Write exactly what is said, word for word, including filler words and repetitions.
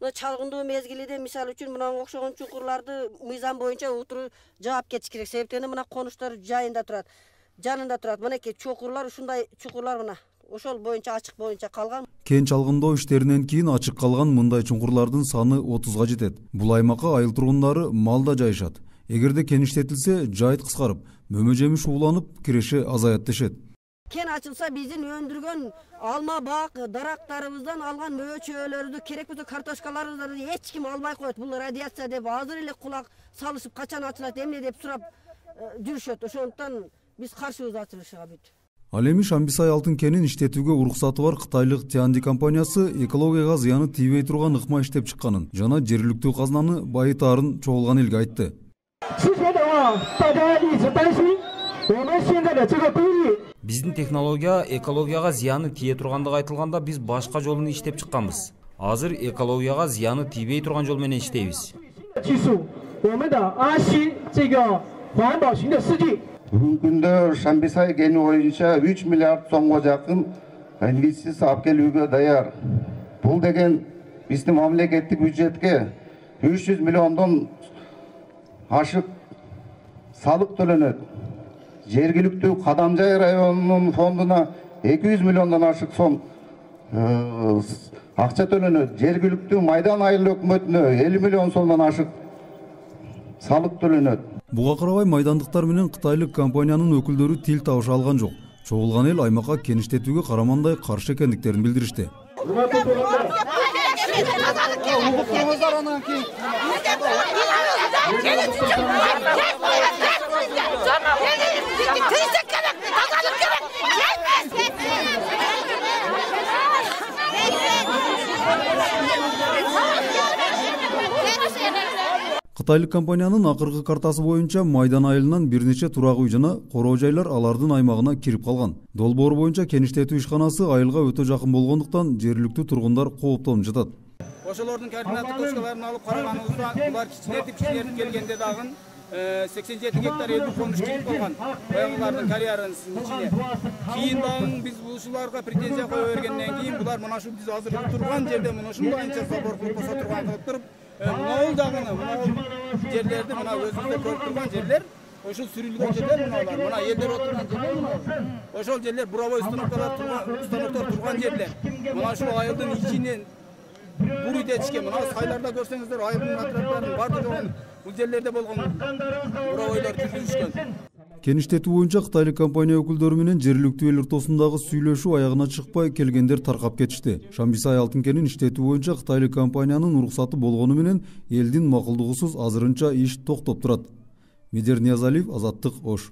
Мына чалгындуу мезгилиде мисалы үчүн мынага окшогон чуңкурларды мыйзам боюнча утуру жаап кетиш керек. Себептен мына конуштар жайында турат, жанында турат. Мынакей чуңкурлар, ушундай чуңкурлар мына ошол боюнча ачык боюнча калган. Кен чалгындоо иштеринен кийин ачык калган мындай чуңкурлардын саны отузга жетет. Бул аймакка айыл тургундары малда жайышат. Эгерде кен иштетилсе, жайыт кыскарып, мөмө жемиш ууланып, киреше азаят дешет. Кен ачылса биздин өндүргөн алма бак дарактарыбыздан алган мөбө чөбөлөрүбүздү, керек болсо картошкаларыбызды эч ким албай коет. Бул радиация деп азыр эле кулак салышып, качан ачылат, эмне деп сурап жүрүшөт. Ошондуктан биз каршыбыз ачылышыга бүт. Ал эми Шамбисай алтын кенин иштетүүгө уруксаты бар кытайлык Тианди компаниясы экологияга зыяны тийбей турган ыкма иштеп чыкканын жана жергиликтүү казынаны байытаарын чогулган элге айтты. Биздин технология экологияга зыяны тие тургандыгы айтылганда биз башка жолун иштеп чыкканбыз. Азыр экологияга зыяны тийбей турган жол менен иштейбиз. Бүгүнкү күндө Шамбисай кени боюнча үч миллиард сомго жакын инвестиция алып келүүгө даяр. Бул деген биздин мамлекеттик бюджетке үч жүз миллиондон ашык салык төлөнөт. Жергиликтүү Кадамжай районунун фондуна эки жүз миллиондон ашык сом акча төлөнөт. Жергиликтүү Майдан айыл өкмөтүнө элүү миллион сомдон ашык салык төлөнөт. Буга карабай майдандыктар менен кытайлык компаниянын өкүлдөрү тил табыша алган жок. Чогулган эл аймакка кен иштетүүгө карамандай каршы экендиктерин билдиришти. Кытайлык компаниянын акыркы картасы боюнча Майдан айылынан бир нече турак үй жана короо жайлар алардын аймагына кирип калган. Долбоор боюнча кен иштетүү ишканасы айылга өтө жакын болгондуктан жергиликтүү тургундар кооптонуп жатат. Ошолордун координаттык точкаларын алып караганыбызда булар кичинетип кичинетип келгенде дагы сексен жети гектар элүү конуш кирип калган. Баягылардын карьерасынын ичине. Кийин дагы биз ушуларга претензия кое бергенден кийин булар мына ушул биз азыр турган жерде мына ушундайча забор кылып коса турган кылып туруп, могул дагы мына жерлерди мына өзүбүздө көрүп турган жерлер, ошол сүрүлгөн жерлер мыналар, мына элдер отурган жерлер мына. Ошол жерлер буровой установкалар турган, установкалар турган жерлер. Мына ушул айылдын ичинен буруйт этишке, мына сайларда көрсөңүздөр айылдын атраптарын бардыгы бул жерлерде болгон буровойлор жүргүзүшкөн. Кен иштетүү боюнча кытайлык компания өкүлдөрү менен жергиликтүү эл ортосундагы сүйлөшүү аягына чыкпай келгендер таркап кетишти. Шамбисай алтын кенин иштетүү боюнча кытайлык компаниянын уруксаты болгону менен элдин макулдугусуз азырынча иш токтоп турат. Медер Ниязалиев, Азаттык, Ош.